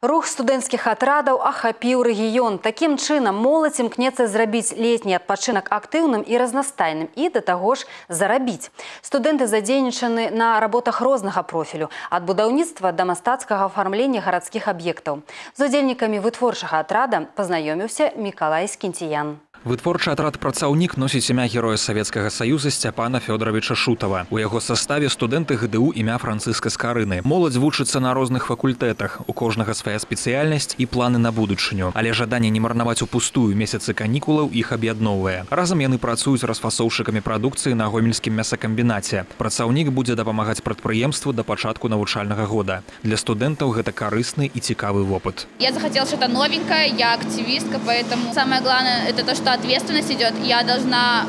Рух студэнцкіх атрадаў ахапіў рэгіён. Такім чынам моладзь імкнецца зрабіць летні адпачынак актыўным і разнастайным і да таго ж зарабіць. Студэнты задзейнічаны на работах рознага профілю, ад будаўніцтва да мастацкага афармлення гарадскіх аб'ектаў. З удзельнікамі вытворчага атрада пазнаёміўся Мікалай Скінціян. Вытворчы атрад «Працаўнік» носіць імя героя Савецкага Саюза Сцяпана Фёдоровича Шутова. У яго составе студэнты ГДУ імя Францыска Скарыны. Моладзь вучыцца на розных факультэтах, у кожнага свая спецыяльнасць і планы на будучыню. Але жаданне не марнаваць упустую месяцы канікулаў іх аб'ядноўвае. Разам яны працуюць расфасоўшчыкамі прадукцыі на гомельскім мясакамбінаце. «Працаўнік» будзе дапамагаць прадпрыемству да пачатку навучальнага года. Для студэнтаў гэта карысны і цікавы вопыт. Я захотела что-то новенькое, я активистка, поэтому самое главное это то, что ответственность идет. Я должна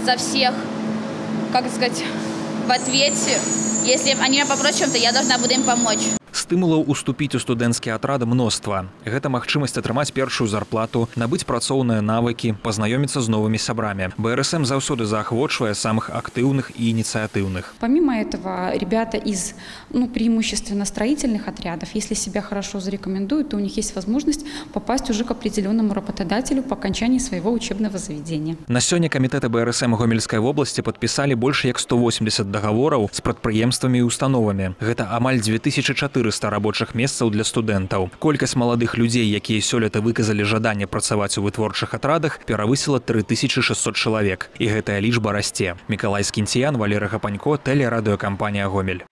за всех, как сказать, в ответе. Если они меня попросят чем-то, я должна буду им помочь. Стымулаў уступіць у студэнцкі атрад мноства. Гэта магчымасць атрымаць першую зарплату, набыць працоўныя навыкі, пазнаёміцца з новымі сябрамі. БРСМ заўсёды заахвочвае самых актыўных і ініцыятыўных. Помимо этого, ребята из преимущественно строительных отрядов, если себя хорошо зарекомендуют, то у них есть возможность попасть уже к определенному работодателю по окончании своего учебного заведения. На сёння камітэты БРСМ Гомельскай вобласці падпісалі больш як 180 дагавораў з прадпрыемствамі і установамі. Гэта амаль 2400 рабочых месцаў для студэнтаў. Колькасць маладых людзей, якія сёлета выказалі жаданне працаваць у вытворчых атрадах, перавысіла 3600 чалавек. І гэтая лічба расце. Мікалай Скінціян, Валерый Гапанько, тэлерадыёкампанія «Гомель».